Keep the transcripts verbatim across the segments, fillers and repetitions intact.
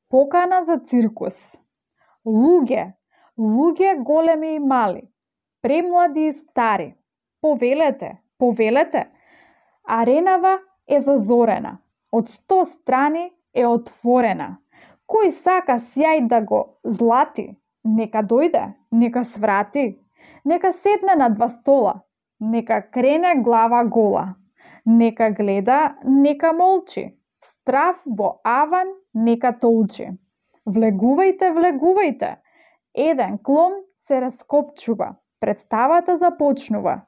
Покана за циркус. Луѓе, луѓе големи и мали, премлади и стари, повелете, повелете. Аренава е зазорена, од сто страни е отворена. Кој сака сјај да го злати, нека дојде, нека сврати, нека седне на два стола, нека крене глава гола, нека гледа, нека молчи, страв во аван нека толчи. Влегувајте, влегувајте, еден клон се раскопчува, представата започнува.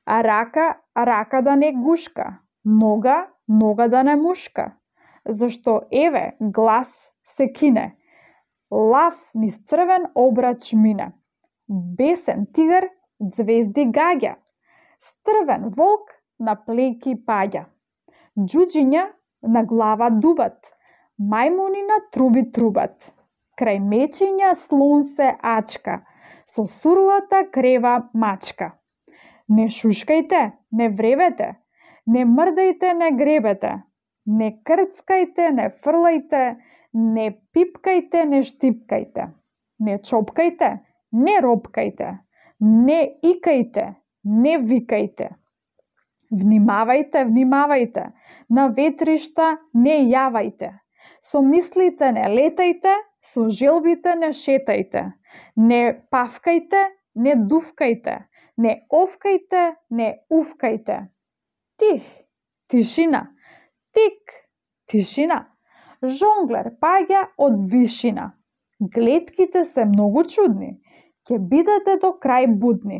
А рака, рака да не гушка, нога, нога да не мушка. Зашто еве глас се кине, лав низ црвен обрач мине. Бесен тигар ѕвезди гаѓа, стрвен волк на плејки паѓа. Џуџиња на глава дубат, мајмуни на труби трубат. Крај мечиња слон се ачка, со сурлата крева мачка. Не шушкајте, не вревете, не мрдајте, не гребете, не крцкајте, не фрлајте, не пипкајте, не штипкајте, не чопкајте, не ропкајте, не икајте, не викајте. Внимавајте, внимавајте, на ветришта не јавајте, со мислите не летајте, со желбите не шетајте, не павкајте, не дувкајте, не овкајте, не увкајте. Тих, тишина, тик, тишина. Жонглер паѓа од вишина. Глетките се многу чудни, ќе бидете до крај будни.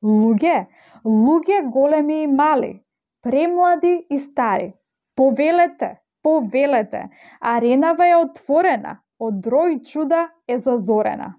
Луѓе, луѓе големи и мали, премлади и стари, повелете, повелете, аренава е отворена, од рој чуда е зазорена.